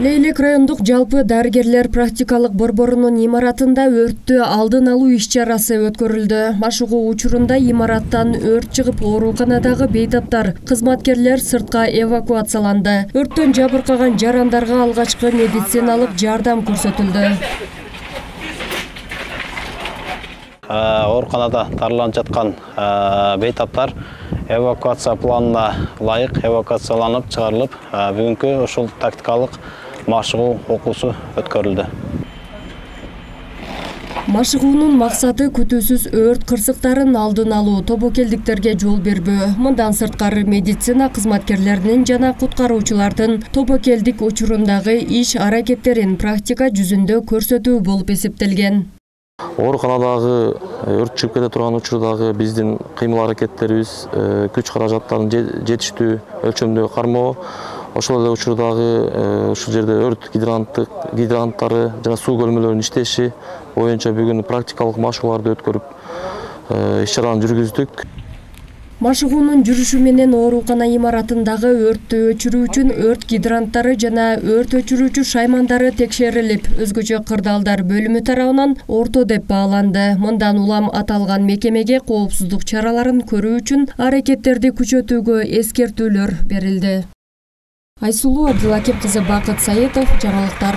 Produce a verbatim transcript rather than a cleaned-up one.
Лейлек райондук жалпы дарыгерлер практикалык борборунун имаратында өрттү алдын алуу иш-чарасы өткөрүлдү. Машыгуу учурунда имараттан өрт чыгып, ооруканадагы бейтаптар, кызматкерлер сыртка эвакуацияланды. Өрттөн жабыркаган жарандарга алгачкы медициналык жардам көрсөтүлдү. Ооруканада дарыланып жаткан бейтаптар эвакуация планына ылайык эвакуацияланып чыгарылып, бүгүнкү ушул тактикалык машыгуу окуусу өткөрүлдү. Машыгуунун максаты күтүүсүз өрт кырсыктарын алдын алуу, тобокелдиктерге жол бербөө. Мындан сырткары медицина кызматкерлеринин жана куткаруучулардын тобокелдик учурундагы иш аракеттерин практика жүзүндө көрсөтүү болуп эсептелген. Ооруканадагы өрт чыгып кете турган учурдагы биздин кыймыл аракеттерибиз күч каражаттарын жетиштүү өлчөмдө кармоо, ошол эле учурдагы ушул жерде өрт гидранттык гидранттары жана суу көлмөлөрүнүн иштеши боюнча бүгүн практикалык машыгууларды өткөрүп, иш-чараны жүргүздүк. Машыгуунун жүрүшү менен оорукана имаратындагы өрттү өчүрүү үчүн өрт гидранттары жана өрт өчүрүүчү шаймандары текшерилип, өзгөчө кырдаалдар бөлүмү тарабынан орто деп бааланды. Мындан улам аталган мекемеге коопсуздук чараларын көрүү үчүн аракеттерди күчөтүүгө эскертүүлөр берилди. Айсулуу Абдылакип кызы, Бакыт Саетов, жаңылыктар.